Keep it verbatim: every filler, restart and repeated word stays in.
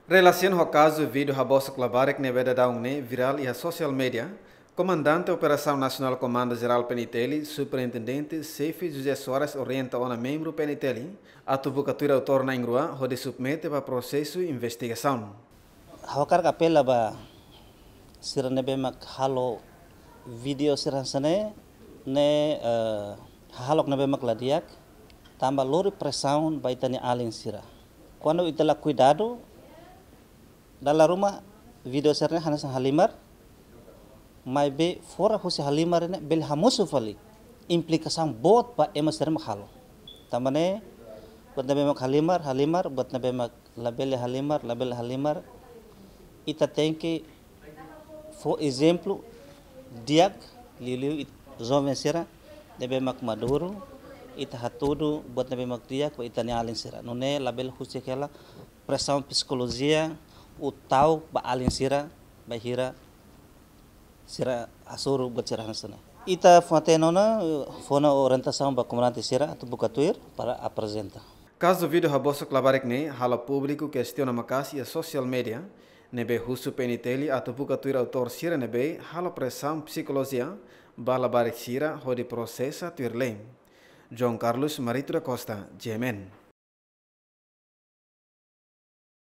Relasiona ho kazu vídeo habosok labarik ne'ebé daudaun ne'e virál iha sosiál média, Komandante Operasaun Nasionál Komandu Jerál P N I T L, Superintendente Xefe José Soares orienta ona membru P N I T L atu buka tuir autór na'in-rua hodi submete ba prosesu investigasaun. Ha'u hakarak apela ba sira ne'ebé mak halo vídeo sira hanesan ne'e, ne'e, eh, hahalok ne'ebé mak la di'ak, tanba lori presaun ba ita-nia alin sira. Kuandu ita la kuidadu, dala ruma vídeo sira-ne'e hanesan halimar, maibé fora husi halimar ne'e bele hamosu fali implikasaun boot ba ema sira mak halo. Tanba ne'e, buat ne'ebé mak halimar, halimar, buat ne'ebé mak labele halimar, labele halimar. Ita tenke fó ezemplu di'ak, liuliu it-, joven sira ne'ebé mak maduru, ita hatudu buat ne'ebé mak di'ak ba ita-nia alin sira. Nune'e labele husik hela presaun psikolojia ou ta'uk ba alin sira, bainhira sira hasoru buat sira hanesan ne'e. Ita fó-hatene ona, fó ona orientasaun ba komandante sira atu buka tuir para aprezenta. Kazu vídeo habosok labarik ne'e halo públiku kestiona maka'as iha sosiál média, ne'ebé husu P N I T L atu buka tuir autór sira ne'ebé halo presaun psikolojia ba labarik sira hodi prosesa tuir lei. João Carlos Marito da Costa, G M N.